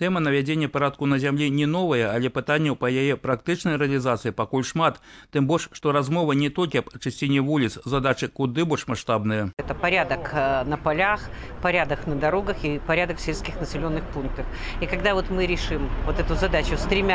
Тэма навядзення парадку на зямлі не новая, але пытанняў па яе практычнай рэалізацыі пакуль шмат. Тым больш, што размова не толькі аб чысціні вуліц, задачы куды больш маштабныя. Это порядок на полях, порядок на дорогах и порядок в сельских населенных пунктах. И когда вот мы решим вот эту задачу с 3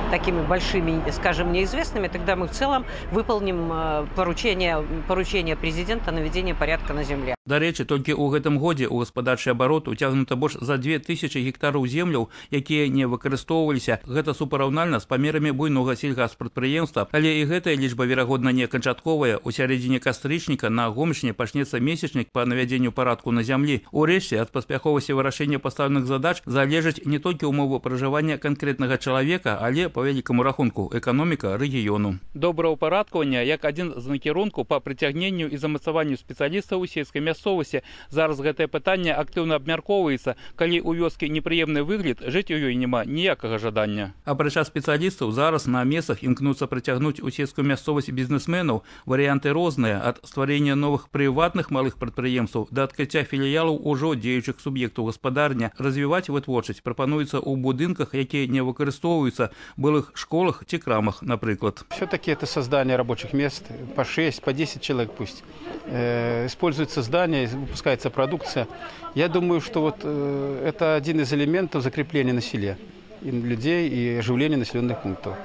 такими большими, скажем, неизвестными, тогда мы в целом выполним поручение президента на наведение порядка на земле. Дарэчы, толькі ў гэтым годзе ў гаспадарчы абарот уцягнута больш за 2000 гектараў земляў, якія не выкарыстоўваліся. Гэта супараўнальна з памерамі буйнога сельгаспрадпрыемства, але і гэтая лічба, верагодна, не канчатковая. У сярэдзіне кастрычніка на Гомельшчыне пачнецца месячнік па навядзенню парадку на зямлі. Урэшце, ад паспяховасці вырашэння пастаўленых задач залежаць не толькі ўмовы пражывання канкрэтнага чалавека, але, па вялікаму рахунку, эканоміка рэгіёну. Добраўпарадкаванне як адзін з накірункаў па прыцягненню і замацаванню спецыялістаў у сельскай мясцовасці. Зараз гэтае пытанне актыўна абмяркоўваецца. Калі ў вёскі непрыемны выгляд, жыць у ёй няма ніякага жадання. Апрача спецыялістаў, зараз на месцах імкнуцца прыцягнуць у сельскую мясцовасць бізнесменаў. Варыянты розныя, ад стварэння новых прыватных малых прадпрыемстваў да адкрыцця філіялаў ужо дзеючых суб'ектаў гаспадарня. Развіваць вытворчасць прапануецца ў будынках, якія не выкарыстоўваюцца, былых школах ці крамах, напрыклад. Все-таки это создание рабочих мест, по 6, по 10 человек пусть. Используется здание, выпускается продукция. Я думаю, что вот это один из элементов закрепления на селе и людей и оживления населенных пунктов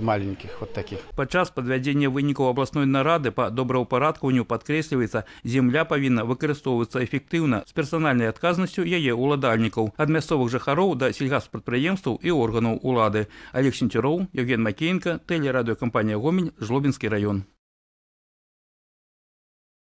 маленьких вот таких. Падчас падвядзення вынікаў абласной нарады па добраўпарадкаванню падкрэсліваецца, земля павінна выкарыстоўвацца эфектыўна з персанальнай адказнасцю яе ўладальнікаў, ад мясцовых жыхароў да сельгаспрадпрыемстваў і органаў улады. Олег Сенцюроў, Евген Макеенко, тэлерадыёкампанія Гомель, Жлобінскі раён.